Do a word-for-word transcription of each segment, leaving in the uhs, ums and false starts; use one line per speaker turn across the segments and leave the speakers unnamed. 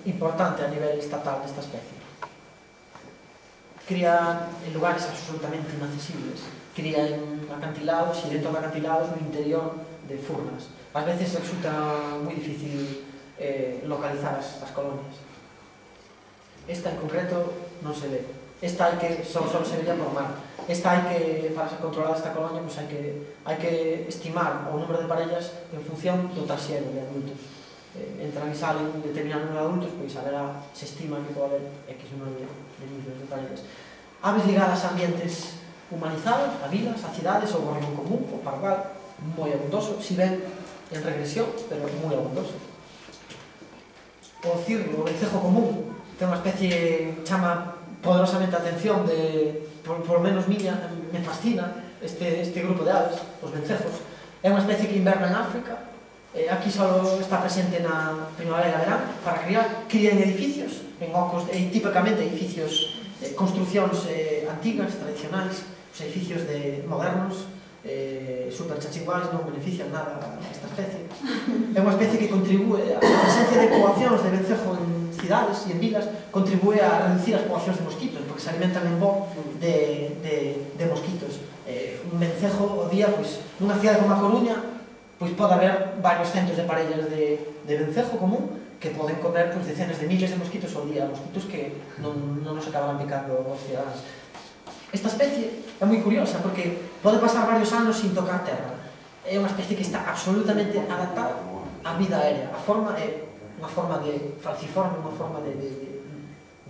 importante a nivel estatal desta especie. Cría en lugares absolutamente inaccesibles, cría en acantilados e dentro de acantilados no interior de furnas. Ás veces resulta moi difícil eh, localizar as, as colonias. Esta en concreto non se ve. Esta hai que, só, só se vería por mar. Esta hai que, para ser controlada esta colonia, pues hai que, hai que estimar o número de parellas en función do taxero de adultos. Eh, entran e salen un determinado número de adultos, pois haberá, se estima que pode haber X número de, de niños de parellas. Aves ligadas a ambientes humanizados, a vilas, a cidades, o gorrión común, o pardal, moi abundoso, si ben en regresión, pero moi abundoso. O cirrio, o vencejo común, ten unha especie que chama poderosamente a atención de, por, por lo menos miña, me fascina este, este grupo de aves, os vencejos. É unha especie que inverna en África, eh, aquí só está presente na primavera e verán, para criar, cría en edificios, en ocos, eh, típicamente edificios, eh, construcións eh, antigas, tradicionais, os edificios de modernos, eh, super chachiguais, non benefician nada a esta especie. É unha especie que contribúe, a presencia de poboacións de vencejo en cidades e en vilas, contribúe a reducir as poboacións de mosquitos, porque se alimentan en bo de, de, de mosquitos. Eh, un vencejo o día, pois, nunha cidade como a Coruña, pois pode haber varios centos de parellas de, de vencejo común que poden comer pois, decenas de miles de mosquitos ao día, mosquitos que non, non nos acabarán picando os cidadáns. Esta especie é moi curiosa porque pode pasar varios anos sin tocar terra. É unha especie que está absolutamente adaptada á vida aérea. A forma é unha forma de falciforme, unha forma de, de,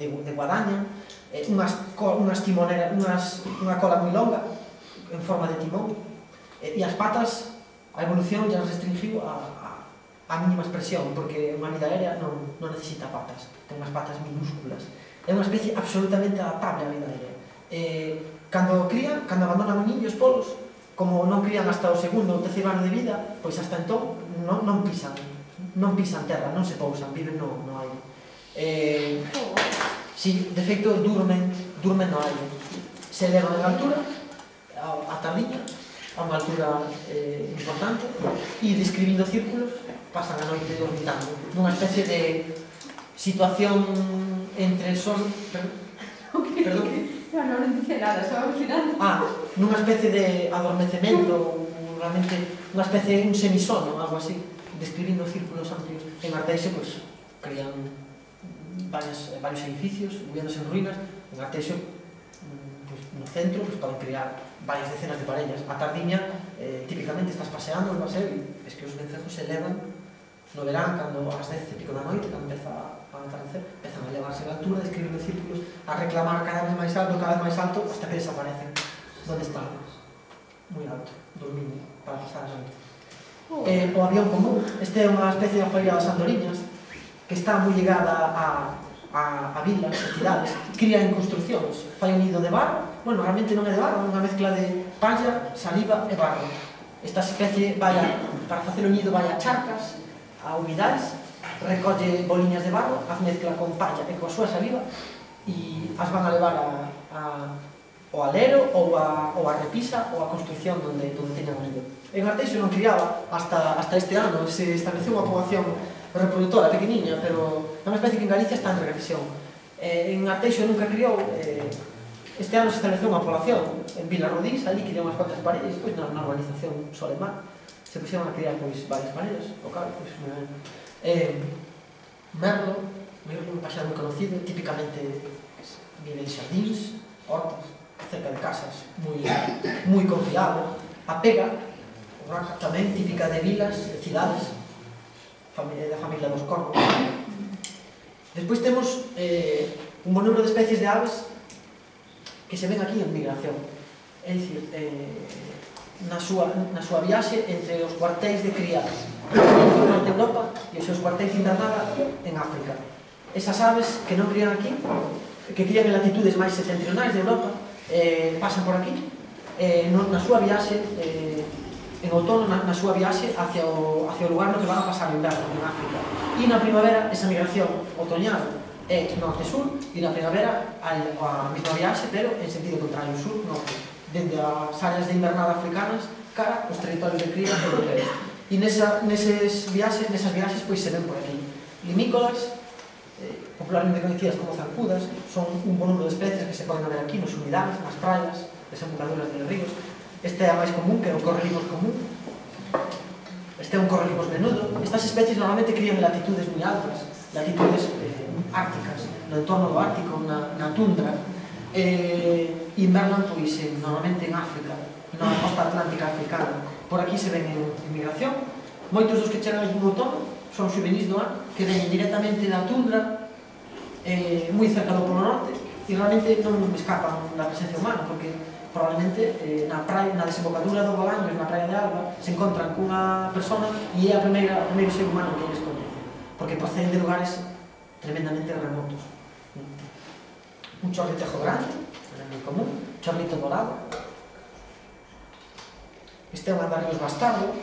de, de guadaña, eh, unhas, unhas timoneras, unhas, unha cola moi longa en forma de timón, eh, e as patas, a evolución ya restringiu a, a, a mínima expresión, porque unha vida aérea non, non necesita patas, ten unhas patas minúsculas. É unha especie absolutamente adaptable á vida aérea. Eh, cando crían, cando abandonan o niño os polos, como non crían hasta o segundo ou terceiro ano de vida, pois hasta entón non, non pisan, non pisan terra, non se pousan, viven no, no aire. Eh, si, de feito, durmen, durmen no aire. Se elevan en altura, a, a tardiña, a unha altura eh, importante, e describindo círculos, pasan a noite orbitando, nunha especie de situación entre sol... Perdón?
No, no, non dice nada, só ao final.
Ah, nunha especie de adormecemento, realmente, unha especie de un semisono, algo así, describindo círculos amplios. En Arteixo, pois, crean varios, varios edificios, viviéndose en ruínas. En Arteixo, pois, no centro, pois, poden crear varias decenas de parellas. A tardiña, eh, típicamente, estás paseando no paseo e es que os vencejos se elevan no verán, cando ás dez e pico da noite, cando empeza a atardecer, empezan a elevarse a altura, describindo círculos, a reclamar cada vez máis alto, cada vez máis alto, hasta que desaparecen. Donde están? Moi alto, dormindo, para pasar a noite. Eh, o avión común, este é unha especie de joia das andoriñas, que está moi ligada a, a, a vilas, a cidades, cría en construcións, fai un nido de barro, bueno, realmente non é de barro, é unha mezcla de palla, saliva e barro. Esta especie vai a, para facer o nido vai a charcas, a humidades, recolle boliñas de barro, as mezcla con palla e coa súa saliva e as van a levar a, a, ao alero ou a, ou a repisa ou a construcción donde, donde teñan o nido. En Arteixo non criaba hasta, hasta este ano, se estableceu unha poboación reproductora pequeniña, pero é unha especie que en Galicia está en regresión. Eh, en Arteixo nunca criou, eh, este ano se estableceu unha población en Vila Rodís, ali criou unhas cuantas parellas, pois na, na urbanización Solemar, se puxeron a criar pois, varias parellas, o cal, pois, eh, merlo, merlo, un paxaro moi conocido, típicamente vive en xardíns, hortas, cerca de casas, moi, moi confiado. A pega, o raca tamén, típica de vilas, de cidades, familia, da familia dos corvos. Despois temos eh, un bon número de especies de aves que se ven aquí en migración. É dicir, eh, na súa, na súa viaxe entre os cuartéis de criadas no norte de Europa e os seus cuartéis de invernada en África. Esas aves que non crían aquí, que crían en latitudes máis setentrionais de Europa, eh, pasan por aquí, eh, no, na súa viaxe, eh, en outono, na, na súa viaxe hacia o, hacia o lugar no que van a pasar o inverno en África. E na primavera, esa migración otoñal é norte-sur, e na primavera a, a mesma viaxe, pero en sentido contrario, sur-norte, dende as áreas de invernada africanas cara aos territorios de cría europeos. E nesa, neses viaxes, nesas viaxes, pois se ven por aquí limícolas, popularmente conocidas como zancudas, son un bon número de especies que se poden ver aquí nos humidales, nas praias, desembocaduras de ríos. Este é a máis común, que é o correlimos común. Este é un correlimos menudo. Estas especies normalmente crían en latitudes moi altas, latitudes eh, árticas, no entorno do Ártico, na, na tundra. Eh, invernan, pois, en, normalmente en África, na costa atlántica africana. Por aquí se ven en, en migración. Moitos dos que chegan aquí no outono son xuvenis do ano, que veñen directamente da tundra, eh, moi cerca do Polo Norte, e realmente non escapan da presencia humana, porque probablemente eh, na praia, na desembocadura do Bolaños, na praia de Alba, se encontran cunha persona e é a primeira, o primeiro ser humano que eles coñecen, porque proceden de lugares tremendamente remotos. Un chorritejo grande, era moi común, chorrito dorado. Este é un andarios bastardo.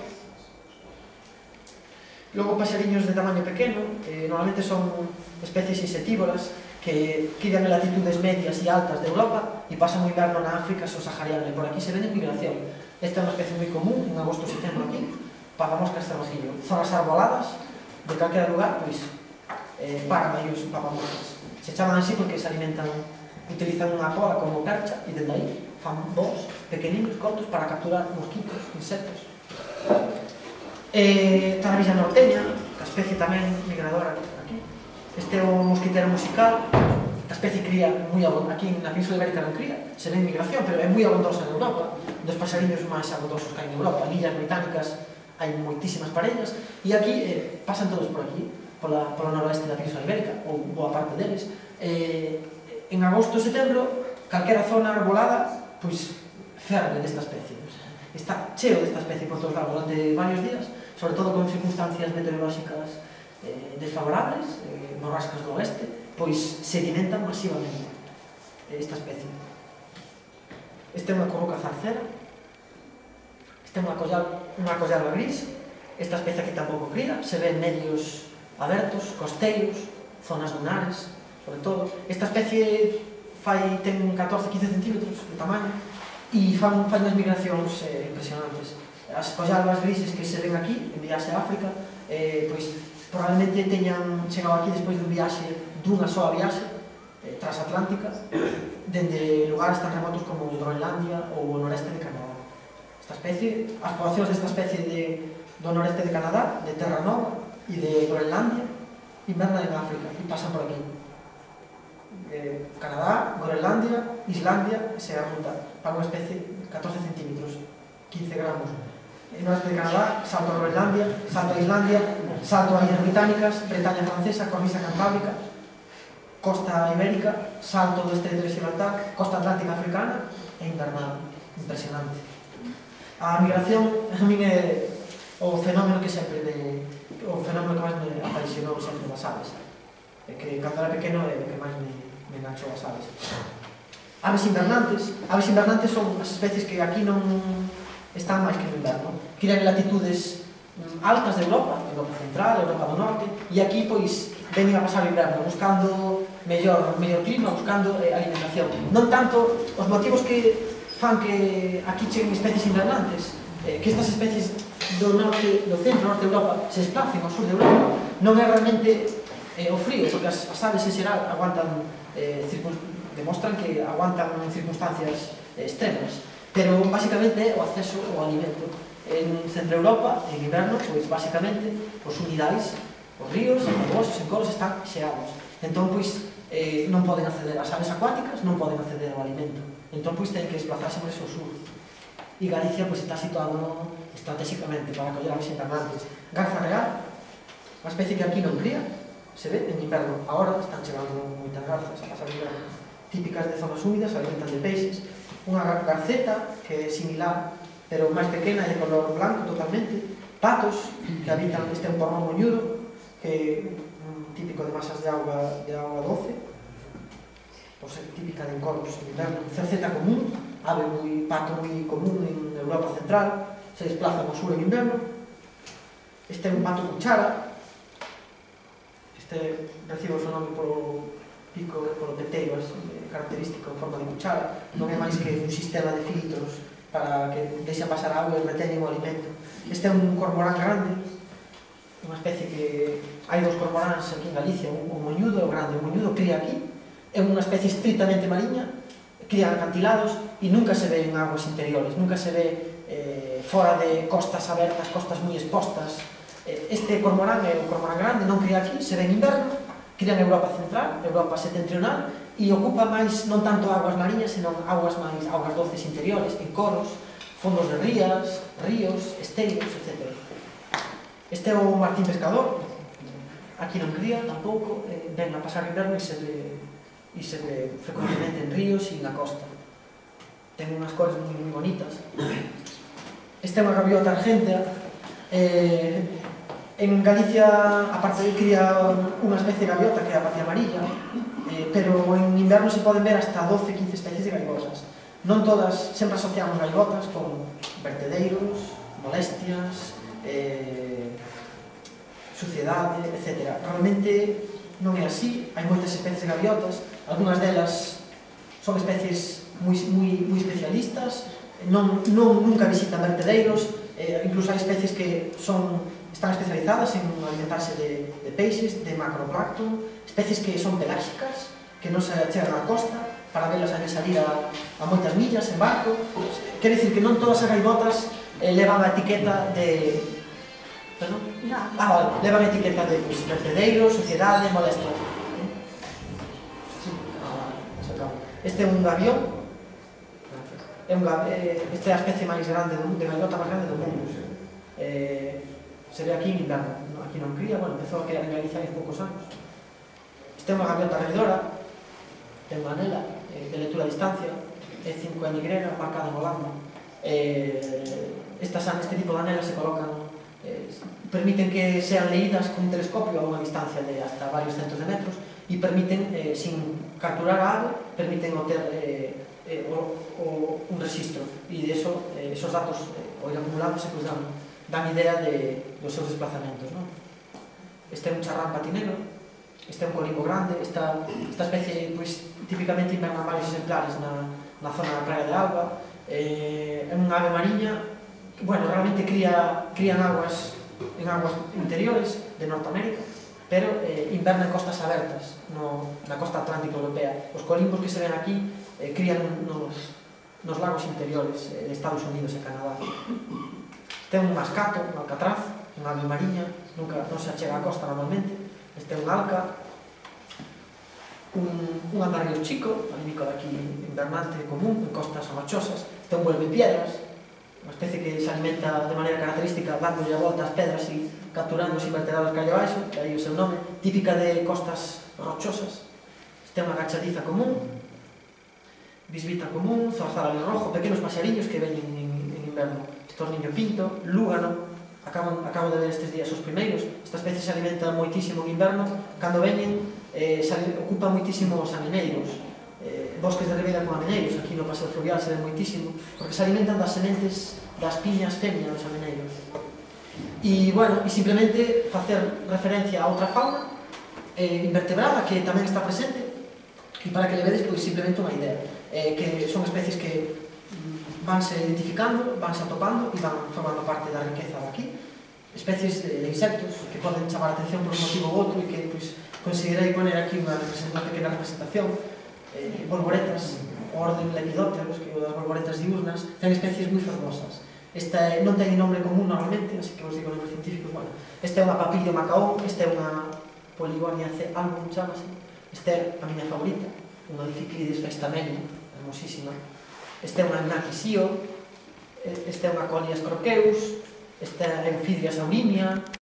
Logo, paxariños de tamaño pequeno, eh, normalmente son especies insectívoras que crian en latitudes medias e altas de Europa e pasan o inverno na África subsahariana, e por aquí se ven en migración. Esta é unha especie moi común, en agosto e setembro aquí, papamoscas cervajillo. Zonas arboladas, de calquera lugar, pois, eh, paran aí os papamoscas. Se chaman así porque se alimentan, utilizan unha cola como percha, e dende aí fan voos pequeninos, cortos, para capturar mosquitos, insectos. Eh, Taravilla norteña, que a especie tamén migradora aquí. Este é o mosquitero musical. A especie cría moi abondosa, aquí na Península Ibérica non cría, se ve en migración, pero é moi abondosa en Europa, dos paxariños máis abondosos que hai en Europa. En illas británicas hai moitísimas parellas, e aquí eh, pasan todos por aquí, pola, polo noroeste da Península Ibérica, ou boa parte deles. Eh, en agosto e setembro, calquera zona arbolada, pois, ferve desta especie. Está cheo desta especie por todos lados durante varios días, sobre todo con circunstancias meteorolóxicas eh, desfavorables, eh, borrascas do oeste, pois se alimentan masivamente esta especie. Este é unha corruca zarcera, este é unha collal, unha collala gris. Esta especie aquí tampouco cría, se ven medios abertos, costeiros, zonas dunares, sobre todo. Esta especie fai, ten catorce a quince centímetros de tamaño e fan, fan unhas migracións eh, impresionantes. As collalbas grises que se ven aquí, en viaxe a África, eh, pois probablemente teñan chegado aquí despois dun viaxe, dunha soa viaxe eh, transatlántica, dende lugares tan remotos como Groenlandia ou o noreste de Canadá. Esta especie, as poboacións desta especie de, do noreste de Canadá, de Terra Nova e de Groenlandia, invernan en África e pasan por aquí. Eh, Canadá, Groenlandia, Islandia, se a ruta para unha especie de catorce centímetros, quince gramos. En o norte de Canadá, salto a Groenlandia, salto a Islandia, salto a Illas Británicas, Bretaña Francesa, Cornisa Cantábrica, costa ibérica, salto do estreito de Gibraltar, costa atlántica africana e invernal. Impresionante. A migración, a min é o fenómeno que sempre me, o fenómeno que máis me apaixonou sempre das aves. É que cando era pequeno é o que máis me, me enganchou as aves. Aves invernantes. Aves invernantes son as especies que aquí non están máis que no inverno. Crían en latitudes altas de Europa, Europa Central, Europa do Norte, e aquí, pois, veñen a pasar o inverno buscando mellor, mellor clima, buscando eh, alimentación. Non tanto os motivos que fan que aquí cheguen especies invernantes, eh, que estas especies do norte, do centro, norte de Europa, se desplacen ao sur de Europa, non é realmente eh, o frío, porque as, as aves en xeral aguantan, eh, demostran que aguantan en circunstancias eh, extremas. Pero, basicamente, é o acceso ao alimento. En Centro Europa, en inverno, pois, basicamente, os unidades, os ríos, os lagos, os encoros están xeados. Entón, pois, eh, non poden acceder ás aves acuáticas, non poden acceder ao alimento. Entón, pois, ten que desplazarse por ese sur. E Galicia, pois, está situado estratégicamente para acoller aves invernantes. Garza real, unha especie que aquí non cría, se ve en inverno. Agora están chegando moitas garzas a pasar o inverno, típicas de zonas húmidas, se alimentan de peixes. Unha garceta, que é similar, pero máis pequena e de color blanco totalmente. Patos, que habitan, este é un porrón moñudo, que é un típico de masas de auga, de auga doce, ou ser típica de encoros en inverno. Cerceta común, ave moi, pato moi común en Europa Central, se desplaza ao sur en inverno. Este é un pato cuchara, este recibe o seu nome polo pico, polo peteiro característico en forma de cuchara. Non é máis que un sistema de filtros para que deixa pasar auga e reteñen o alimento. Este é un cormorán grande, unha especie que hai dos cormoráns aquí en Galicia, o moñudo e o grande. O moñudo cría aquí, é unha especie estritamente mariña, cría en acantilados e nunca se ve en aguas interiores, nunca se ve eh, fora de costas abertas, costas moi expostas. Eh, este cormorán é o cormorán grande, non cría aquí, se ve en inverno, cría en Europa Central, Europa Setentrional, e ocupa máis, non tanto aguas mariñas, senón aguas máis, augas doces interiores, en coros, fondos de rías, ríos, esteios, etcétera. Este é o martín pescador, aquí non cría tampouco, eh, ven a pasar o inverno e se ve, e se ve frecuentemente en ríos e na costa. Ten unhas cores moi, moi bonitas. Esta é unha gaviota argentea. Eh, en Galicia, aparte de cría unha especie de gaviota que é a patria amarilla, eh, pero en inverno se poden ver hasta doce a quince especies de gaivotas. Non todas, sempre asociamos gaivotas con vertedeiros, molestias, eh, suciedade, etcétera. Realmente non é así, hai moitas especies de gaviotas, algunhas delas son especies moi, moi, moi especialistas, non, non, nunca visitan vertedeiros, eh, incluso hai especies que son, están especializadas en alimentarse de, de peixes, de macroplancton, especies que son peláxicas, que non se chegan á costa, para velas a salir a, a moitas millas en barco. Quer dicir que non todas as gaivotas eh, levan a etiqueta de... Perdón?
No.
Ah, vale, levan a etiqueta de pues, vertedeiros, suciedade, molestia. Sí. Ah, vale, este é un gavión. É un gavión, eh, esta é a especie máis grande do mundo, de gaivota máis grande do mundo. Eh, se ve aquí en inverno, aquí non cría, bueno, empezou a criar en Galicia hai poucos anos. Esta é unha gaviota redidora, ten unha anela eh, de lectura a distancia, é cinco N Y, marcada en Holanda. Eh, estas, este tipo de anelas se colocan, eh, permiten que sean leídas con un telescopio a unha distancia de hasta varios centos de metros e permiten, eh, sin capturar a ave, permiten obter eh, eh, o, o, un registro e de eso, eh, esos datos eh, o ir acumulándose pues, dan, dan idea de, dos seus desplazamentos, ¿no? Este é un charrán patinero, este é un colimbo grande, esta, esta especie pues, típicamente invernan varios exemplares na, na zona da praia de Alba, eh, é unha ave mariña que, bueno, realmente cría, cría en aguas, en aguas interiores de Norteamérica, pero eh, inverna en costas abertas, no, na costa atlántica europea. Os colimbos que se ven aquí eh, crían nos, nos lagos interiores eh, de Estados Unidos e Canadá. Ten un mascato, un alcatraz, unha ave mariña, nunca non se achega á costa normalmente. Este é un alca, un, un andarrío chico, alímico daqui invernante común, en costas rochosas. Este é un vuelvepiedras, unha especie que se alimenta de maneira característica dándolle a volta ás pedras e capturando os invertebrados que hai abaixo, de aí o seu nome, típica de costas rochosas. Este é unha agachadiza común, bisbita común, zorzal rojo, pequenos paxariños que veñen en, en inverno. Estorniño pinto, lúgano, acabo, acabo de ver estes días os primeiros. Esta especie se alimenta moitísimo en inverno, cando veñen eh, ocupa moitísimo os amineiros, eh, bosques de ribeira con amineiros, aquí no paseo fluvial se ven moitísimo, porque se alimentan das sementes das piñas femia dos amineiros. E, bueno, e simplemente facer referencia a outra fauna eh, invertebrada que tamén está presente, e para que le vedes, pois, simplemente unha idea, eh, que son especies que vanse identificando, vanse atopando e van formando parte da riqueza daqui. Especies de, de insectos que poden chamar a atención por un motivo ou outro e que, pois, considerei poner aquí unha, unha pequena representación. Eh, bolboretas, o orden Lepidópteros, que é o das bolboretas diurnas, ten especies moi fermosas. Esta non ten nombre común normalmente, así que vos digo nombres científicos. Bueno, esta é unha papilio macaón, esta é unha Poligonia C. album, chamase. Esta é a miña favorita, unha Dificlides festamelia, hermosísima. Esta é unha Gnathisio, esta é unha Colias croqueus, esta é Euphidria saurimia,